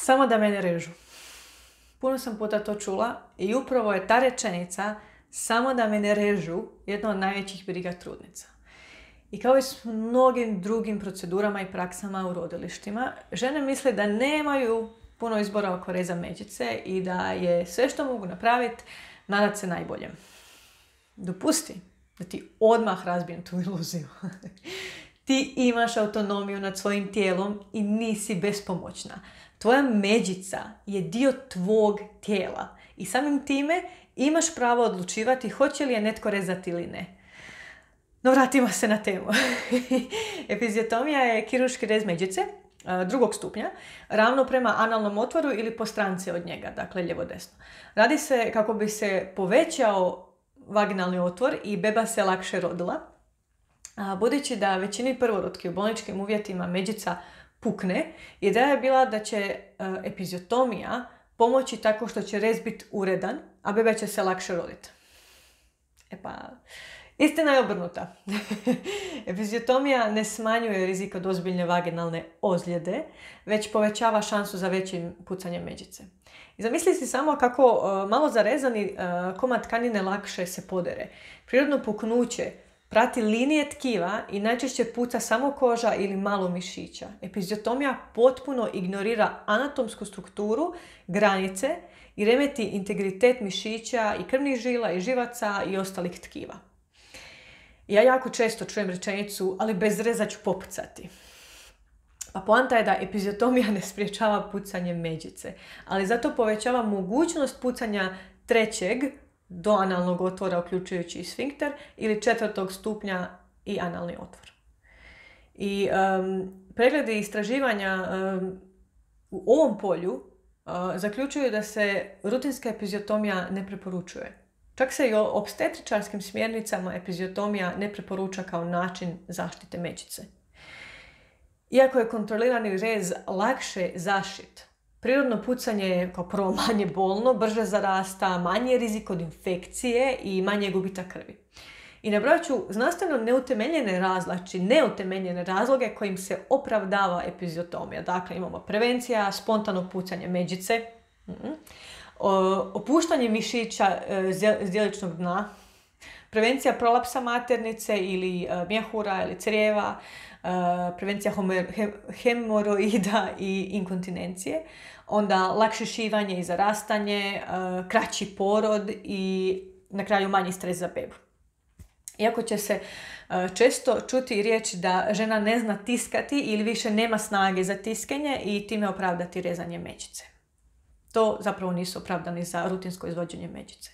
Samo da mene režu. Puno sam puta to čula i upravo je ta rečenica samo da me ne režu jedna od najvećih briga trudnica. I kao i s mnogim drugim procedurama i praksama u rodilištima, žene misle da nemaju puno izbora oko reza međice i da je sve što mogu napraviti nadat se najboljem. Dopusti da ti odmah razbijem tu iluziju. Ti imaš autonomiju nad svojim tijelom i nisi bespomoćna. Tvoja međica je dio tvog tijela i samim time imaš pravo odlučivati hoće li je netko rezati ili ne. No vratimo se na temu. Epiziotomija je kirurški rez međice drugog stupnja, ravno prema analnom otvoru ili po stranci od njega, dakle lijevo-desno. Radi se kako bi se povećao vaginalni otvor i beba se lakše rodila. Budući da većini prvorotki u bolničkim uvjetima međica pukne, ideja je bila da će epiziotomija pomoći tako što će rez biti uredan, a beba će se lakše roditi. Istina je obrnuta. Epiziotomija ne smanjuje rizik od ozbiljne vaginalne ozljede, već povećava šansu za većim pucanjem međice. I zamisli si samo kako malo zarezani komad tkanine lakše se podere. Prirodno puknuće prati linije tkiva i najčešće puca samo koža ili malo mišića. Epiziotomija potpuno ignorira anatomsku strukturu, granice i remeti integritet mišića i krvnih žila i živaca i ostalih tkiva. Ja jako često čujem rečenicu, ali bez reza ću popucati. A poanta je da epiziotomija ne spriječava pucanje međice, ali zato povećava mogućnost pucanja trećeg do analnog otvora, uključujući i sfinkter, ili 4. stupnja i analni otvor. I pregledi istraživanja u ovom polju zaključuju da se rutinska epiziotomija ne preporučuje. Čak se i o opstetričarskim smjernicama epiziotomija ne preporuča kao način zaštite međice. Iako je kontrolirani rez lakše zašit, prirodno pucanje je kao prvo manje bolno, brže zarasta, manji je rizik od infekcije i manje gubitak krvi. I nabrojat ću znanstveno neutemeljene razloge kojim se opravdava epiziotomija. Dakle, imamo prevencija, spontano pucanje međice, opuštanje mišića zdjeličnog dna, prevencija prolapsa maternice ili mjehura ili crijeva, prevencija hemoroida i inkontinencije, onda lakše šivanje i zarastanje, kraći porod i na kraju manji stres za bebu. Iako će se često čuti riječ da žena ne zna tiskati ili više nema snage za tiskanje i time opravdati rezanje međice. To zapravo nisu opravdani za rutinsko izvođenje međice.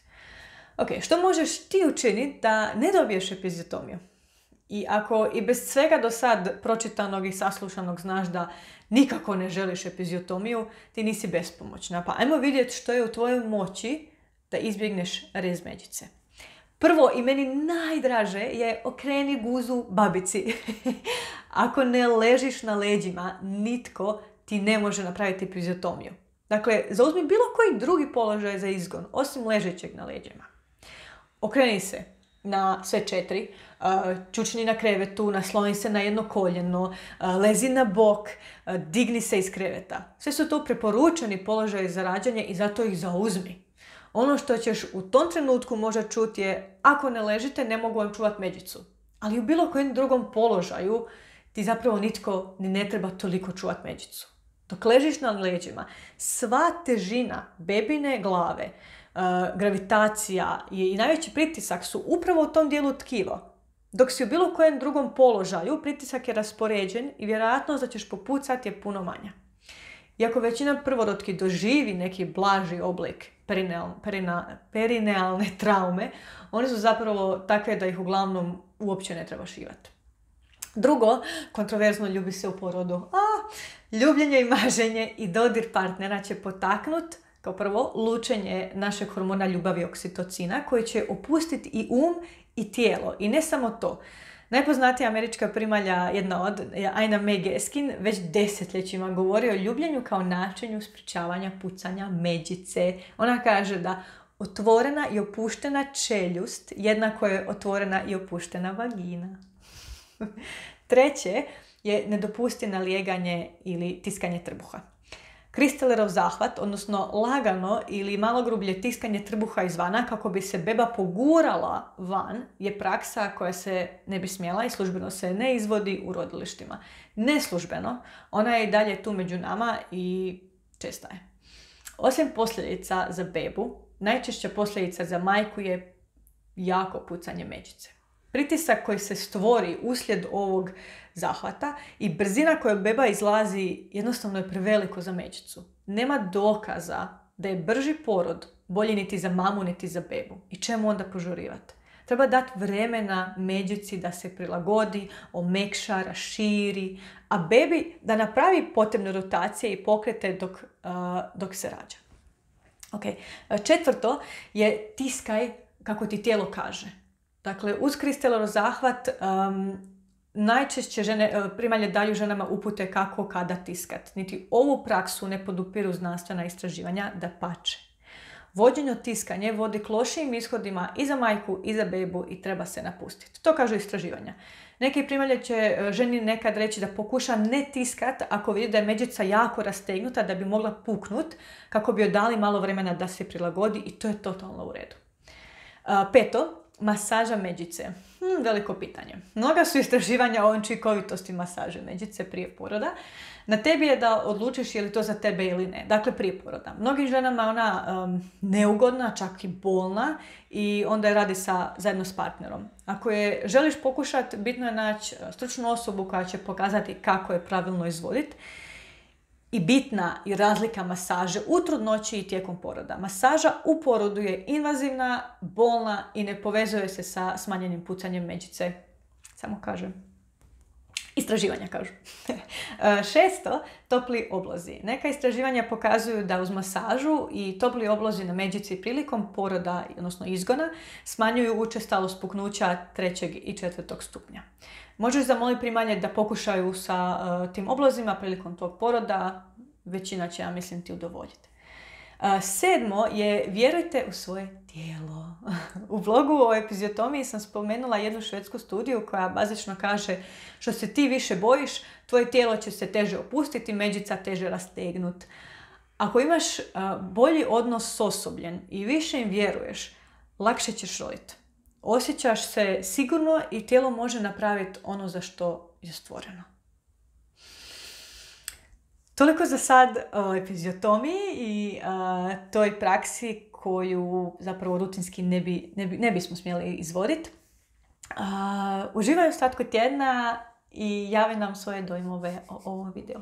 Ok, što možeš ti učiniti da ne dobiješ epiziotomiju? I ako i bez svega do sad pročitanog i saslušanog znaš da nikako ne želiš epiziotomiju, ti nisi bespomoćna. Pa ajmo vidjeti što je u tvojoj moći da izbjegneš rez međice. Prvo i meni najdraže je okreni guzu babici. Ako ne ležiš na leđima, nitko ti ne može napraviti epiziotomiju. Dakle, zauzmi bilo koji drugi položaj za izgon, osim ležećeg na leđima. Okreni se na sve 4, čučni na krevetu, nasloni se na jedno koljeno, lezi na bok, digni se iz kreveta. Sve su to preporučeni položaji za rađanje i zato ih zauzmi. Ono što ćeš u tom trenutku možda čuti je, ako ne ležite, ne mogu vam čuvati međicu. Ali u bilo kojem drugom položaju ti zapravo nitko ni ne treba toliko čuvati međicu. Dok ležiš na leđima, sva težina bebine glave, gravitacija i najveći pritisak su upravo u tom dijelu tkiva. Dok si u bilo kojem drugom položaju, pritisak je raspoređen i vjerojatnost da ćeš popucati je puno manja. Iako većina prvorotki doživi neki blaži oblik perinealne traume, one su zapravo takve da ih uglavnom uopće ne treba šivati. Drugo, kontroverzno ljubi se u porodu. Ljubljenje i maženje i dodir partnera će potaknuti, kao prvo, lučenje našeg hormona ljubavi oksitocina, koji će opustiti i i tijelo. I ne samo to. Najpoznatija američka primalja, jedna od, Ina May Gaskin, već desetljećima govori o ljubljenju kao načinu sprječavanja pucanja međice. Ona kaže da otvorena i opuštena čeljust jednako je otvorena i opuštena vagina. Treće je ne dopusti nalijeganje ili tiskanje trbuha. Kristelerov zahvat, odnosno lagano ili malo grublje tiskanje trbuha izvana kako bi se beba pogurala van, je praksa koja se ne bi smjela i službeno se ne izvodi u rodilištima. Neslužbeno, ona je i dalje tu među nama i česta je. Osim posljedica za bebu, najčešća posljedica za majku je jako pucanje međice. Pritisak koji se stvori uslijed ovog zahvata i brzina kojom beba izlazi jednostavno je preveliko za međicu. Nema dokaza da je brži porod bolji niti za mamu niti za bebu. I čemu onda požurivati? Treba dati vremena međici da se prilagodi, omekša, raširi, a bebi da napravi potrebne rotacije i pokrete dok se rađa. Okay. Četvrto je tiskaj kako ti tijelo kaže. Dakle, uz Kristelerov zahvat najčešće primalje daju ženama upute kako kada tiskat. Niti ovu praksu ne podupiru znanstvena istraživanja, dapače. Vođenje tiskanje vodi k lošijim ishodima i za majku i za bebu i treba se napustiti. To kažu istraživanja. Neki primalje će ženi nekad reći da pokuša ne tiskat ako vidi da je međica jako rastegnuta da bi mogla puknut, kako bi joj dali malo vremena da se prilagodi i to je totalno u redu. Peto, masaža međice. Veliko pitanje. Mnoga su istraživanja o učinkovitosti masaže međice prije poroda. Na tebi je da odlučiš je li to za tebe ili ne. Dakle, prije poroda. Mnogim ženama je ona neugodna, čak i bolna i onda je radi zajedno s partnerom. Ako je želiš pokušati, bitno je naći stručnu osobu koja će pokazati kako je pravilno izvoditi. I bitna je razlika masaže u trudnoći i tijekom poroda. Masaža u porodu je invazivna, bolna i ne povezuje se sa smanjenim pucanjem međice. Samo kažem. Istraživanja kažu. Šesto, topli oblozi. Neka istraživanja pokazuju da uz masažu i topli oblozi na međici prilikom poroda, odnosno izgona, smanjuju učestalost puknuća 3. i 4. stupnja. Možeš zamoliti primalje da pokušaju sa tim oblozima prilikom tog poroda, većina će, ja mislim, ti udovoljiti. Sedmo je vjerujte u svoje tijelo. U vlogu o epiziotomiji sam spomenula jednu švedsku studiju koja bazično kaže što se ti više bojiš, tvoje tijelo će se teže opustiti, međica teže rastegnut. Ako imaš bolji odnos s osobljem i više im vjeruješ, lakše ćeš roditi. Osjećaš se sigurno i tijelo može napraviti ono za što je stvoreno. Toliko za sad o epiziotomiji i toj praksi koju zapravo rutinski ne bismo smjeli izvoditi. Uživaj u ostatku tjedna i javi nam svoje dojmove o ovom videu.